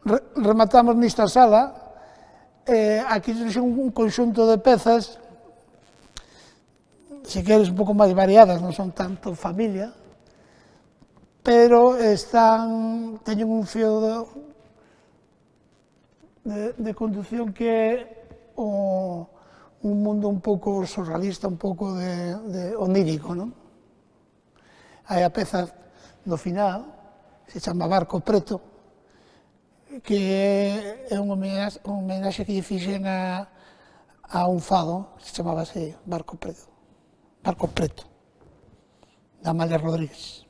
rematamos nesta sala. Aquí son un conxunto de pezas, se queres un pouco máis variadas, non son tanto familia, pero teñen un fío de conducción que é un mundo un pouco surrealista, un pouco onírico, non? Hai a peza no final, se chama Barco Preto, que é unha homenaxe que lle fixen a un fado, se chamaba así, Barco Preto, da Amalia Rodríguez.